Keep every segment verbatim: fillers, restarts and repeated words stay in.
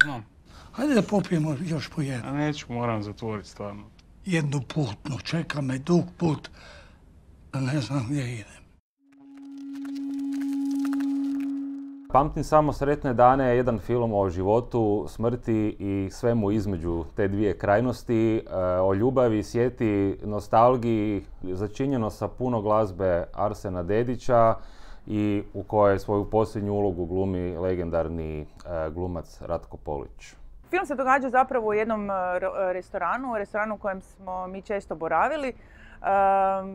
Znam. Hajde da popijemo još po jednu. A neću, moram zatvoriti stvarno. Jednu putnu, čeka me dug put, da ne znam gdje idem. Pamtim samo sretne dane je jedan film o životu, smrti i svemu između te dvije krajnosti, o ljubavi, sjeti, nostalgiji, začinjeno sa puno glazbe Arsena Dedića i u kojoj svoju posljednju ulogu glumi legendarni glumac Ratko Polić. Film se događa zapravo u jednom restoranu, restoranu u kojem smo mi često boravili,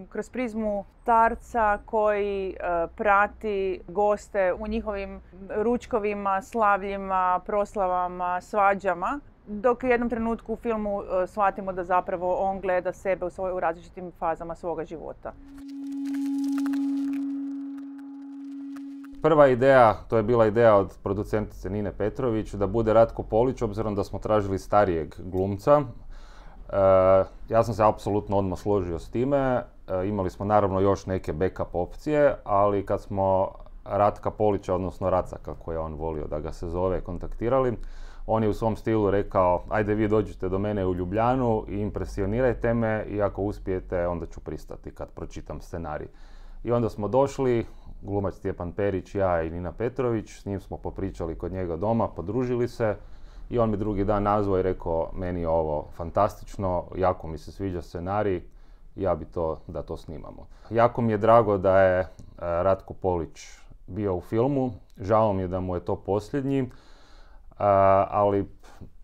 kroz prizmu starca koji prati goste u njihovim ručkovima, slavljima, proslavama, svađama, dok u jednom trenutku u filmu shvatimo da zapravo on gleda sebe u, svoj, u različitim fazama svoga života. Prva ideja, to je bila ideja od producentice Nine Petrović, da bude Ratko Polić, obzirom da smo tražili starijeg glumca. E, ja sam se apsolutno odmah složio s time. E, imali smo naravno još neke backup opcije, ali kad smo Ratka Polića, odnosno Raca, kako je on volio da ga se zove, kontaktirali, on je u svom stilu rekao: ajde vi dođite do mene u Ljubljanu i impresionirajte me i ako uspijete onda ću pristati kad pročitam scenarij. I onda smo došli, glumac Stjepan Perić, ja i Nina Petrović, s njim smo popričali kod njega doma, podružili se i on mi drugi dan nazvao i rekao: meni je ovo fantastično, jako mi se sviđa scenarij, ja bi to da to snimamo. Jako mi je drago da je Ratko Polić bio u filmu, žao mi je da mu je to posljednji, ali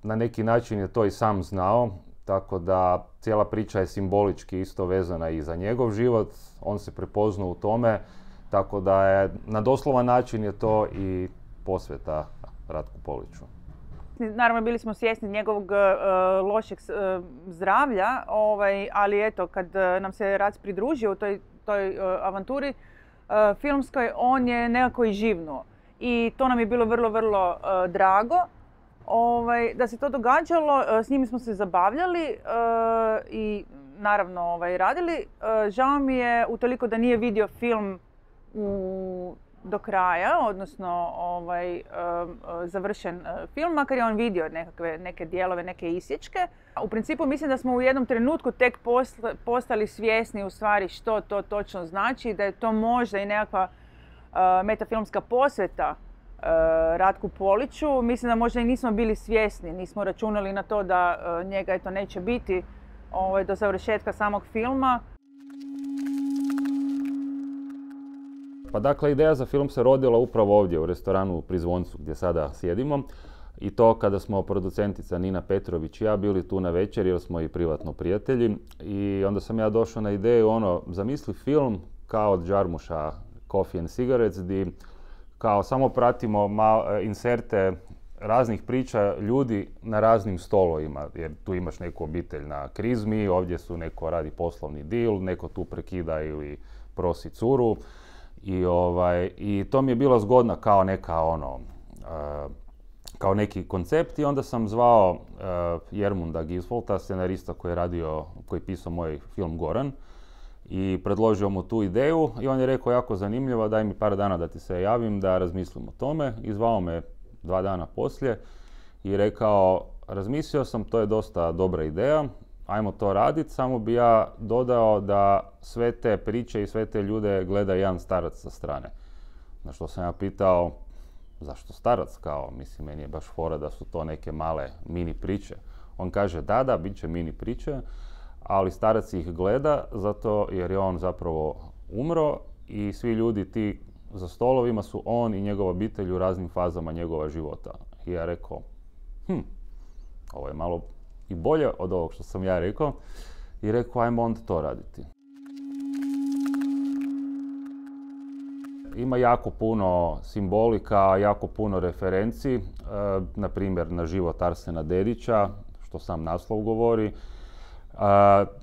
na neki način je to i sam znao, tako da cijela priča je simbolički isto vezana i za njegov život, on se prepoznao u tome. Tako da je, na doslovan način je to i posveta Ratku Poliću. Naravno, bili smo svjesni njegovog uh, lošeg uh, zdravlja, ovaj, ali eto, kad uh, nam se Rac pridružio u toj, toj uh, avanturi uh, filmskoj, on je nekako i živnuo. I to nam je bilo vrlo, vrlo uh, drago. Ovaj, da se to događalo, uh, s njim smo se zabavljali uh, i naravno ovaj, radili. Uh, žao mi je utoliko da nije vidio film U, do kraja, odnosno ovaj, um, završen uh, film, makar je on vidio nekakve, neke dijelove, neke isječke. U principu mislim da smo u jednom trenutku tek posle, postali svjesni u stvari što to točno znači, da je to možda i nekakva uh, metafilmska posveta uh, Ratku Poliću. Mislim da možda i nismo bili svjesni, nismo računali na to da uh, njega eto neće biti ovaj, do završetka samog filma. Pa dakle, ideja za film se rodila upravo ovdje u restoranu Pri Zvoncu gdje sada sjedimo. I to kada smo producentica Nina Petrović i ja bili tu na večer jer smo i privatno prijatelji. I onda sam ja došao na ideju, ono, zamisli film kao od Jarmuša Coffee and Cigarettes, gdje kao samo pratimo mal, inserte raznih priča ljudi na raznim stolovima. Jer tu imaš neku obitelj na krizmi, ovdje su neko radi poslovni deal, neko tu prekida ili prosi curu. I, ovaj, I to mi je bilo zgodno kao neka ono, uh, kao neki koncept i onda sam zvao uh, Jermunda Gisvolta, scenarista koji je radio, koji je pisao moj film Goran i predložio mu tu ideju i on je rekao jako zanimljivo, daj mi par dana da ti se javim da razmislim o tome i zvao me dva dana poslije i rekao: razmislio sam, to je dosta dobra ideja, ajmo to raditi, samo bi ja dodao da sve te priče i sve te ljude gleda jedan starac sa strane. Na što sam ja pitao, zašto starac, kao, mislim, meni je baš fora da su to neke male mini priče. On kaže, da, da, bit će mini priče, ali starac ih gleda zato jer je on zapravo umro i svi ljudi ti za stolovima su on i njegova obitelj u raznim fazama njegova života. I ja rekao, hm, ovo je malo i bolje od ovog što sam ja rekao i rekao, ajmo onda to raditi. Ima jako puno simbolika, jako puno referenci, e, na primjer na život Arsena Dedića, što sam naslov govori. E,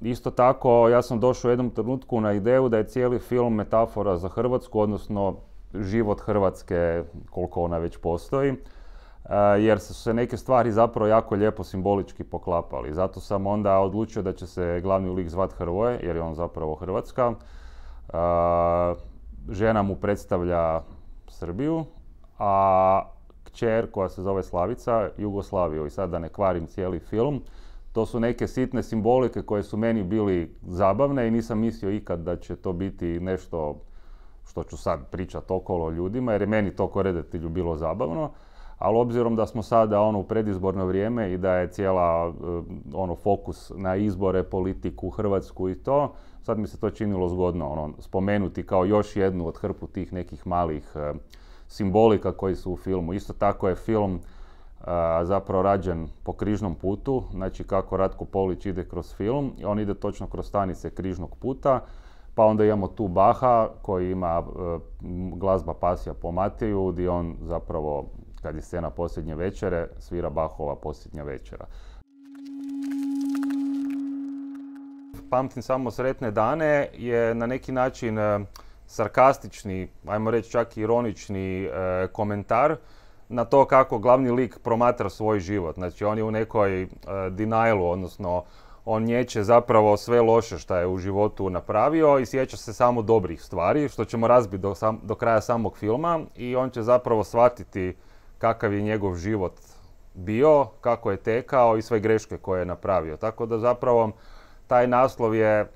isto tako, ja sam došao u jednom trenutku na ideju da je cijeli film metafora za Hrvatsku, odnosno život Hrvatske, koliko ona već postoji. Jer su se neke stvari zapravo jako lijepo simbolički poklapali. Zato sam onda odlučio da će se glavni lik zvat Hrvoje, jer je on zapravo Hrvatska. Žena mu predstavlja Srbiju, a kćer koja se zove Slavica Jugoslaviju. I sad da ne kvarim cijeli film, to su neke sitne simbolike koje su meni bili zabavne i nisam mislio ikad da će to biti nešto što ću sad pričati okolo ljudima, jer je meni to ko redatelju bilo zabavno. Ali obzirom da smo sada ono u predizborno vrijeme i da je cijela ono fokus na izbore, politiku, Hrvatsku i to, sad mi se to činilo zgodno ono, spomenuti kao još jednu od hrpu tih nekih malih e, simbolika koji su u filmu. Isto tako je film e, zapravo rađen po križnom putu, znači kako Ratko Polić ide kroz film, on ide točno kroz stanice križnog puta, pa onda imamo tu Baha koji ima e, glazba Pasija po Mateju, gdje on zapravo, kad je scena posljednje večere, svira Bachova posljednja večera. Pamtim samo sretne dane je na neki način e, sarkastični, ajmo reći čak ironični e, komentar na to kako glavni lik promatra svoj život. Znači on je u nekoj e, denialu, odnosno on nječe zapravo sve loše što je u životu napravio i sjeća se samo dobrih stvari, što ćemo razbiti do, sam, do kraja samog filma i on će zapravo shvatiti kakav je njegov život bio, kako je tekao i sve greške koje je napravio. Tako da zapravo taj naslov je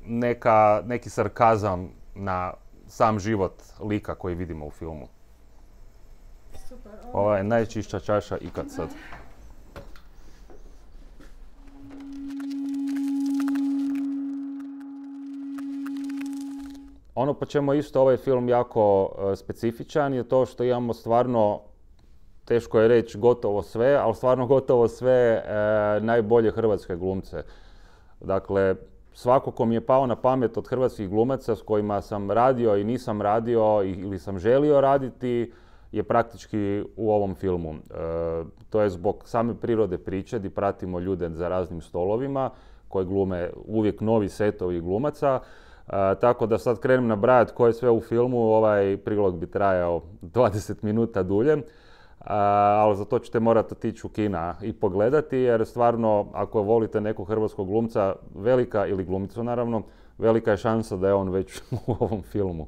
neka, neki sarkazam na sam život lika koji vidimo u filmu. Super. Ova je najčišća čaša ikad sad. Ono po čemu je isto ovaj film jako uh, specifičan je to što imamo stvarno, teško je reći gotovo sve, ali stvarno gotovo sve uh, najbolje hrvatske glumce. Dakle, svako ko mi je pao na pamet od hrvatskih glumaca s kojima sam radio i nisam radio ili sam želio raditi je praktički u ovom filmu. E, to je zbog same prirode priče gdje pratimo ljude za raznim stolovima koji glume uvijek novi setovi glumaca. E, tako da sad krenem nabrajati ko je sve u filmu, ovaj prilog bi trajao dvadeset minuta dulje. Uh, ali za to ćete morati otići u kina i pogledati, jer stvarno, ako volite nekog hrvatskog glumca, velika, ili glumicu naravno, velika je šansa da je on već u ovom filmu.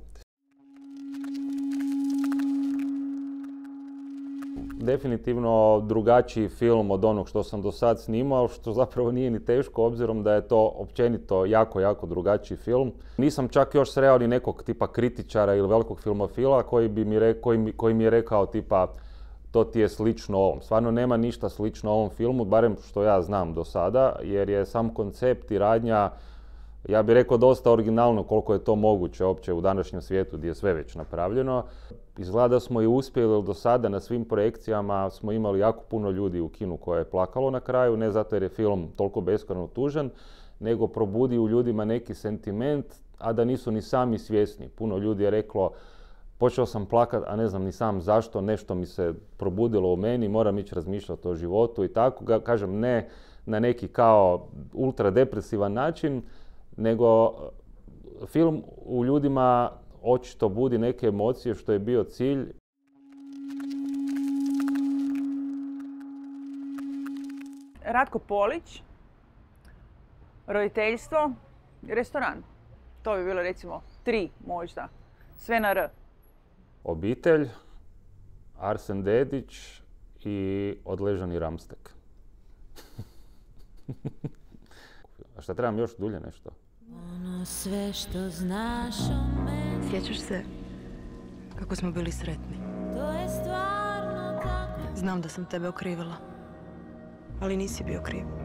Definitivno drugačiji film od onog što sam do sad snimao, što zapravo nije ni teško, obzirom da je to općenito jako, jako drugačiji film. Nisam čak još sreo ni nekog tipa kritičara ili velikog filmofila koji, bi mi, re, koji, mi, koji mi je rekao tipa to ti je slično ovom. Stvarno nema ništa slično ovom filmu, barem što ja znam do sada, jer je sam koncept i radnja, ja bih rekao, dosta originalno koliko je to moguće uopće u današnjem svijetu gdje je sve već napravljeno. Izgleda da smo i uspjeli do sada na svim projekcijama, smo imali jako puno ljudi u kinu koje je plakalo na kraju, ne zato jer je film toliko beskrajno tužan, nego probudi u ljudima neki sentiment, a da nisu ni sami svjesni. Puno ljudi je reklo, počeo sam plakat, a ne znam ni sam zašto, nešto mi se probudilo u meni, moram ići razmišljati o životu i tako. Kažem, ne na neki kao ultradepresivan način, nego film u ljudima očito budi neke emocije, što je bio cilj. Ratko Polić, roditeljstvo, restoran. To bi bilo recimo tri možda, sve na R. Obitelj, Arsen Dedić i odležani Ramstek. A šta trebam još dulje nešto? Ono sve što znaš o meni. Sjećaš se kako smo bili sretni? To je stvarno tako. Znam da sam tebe okrivila, ali nisi bio kriv.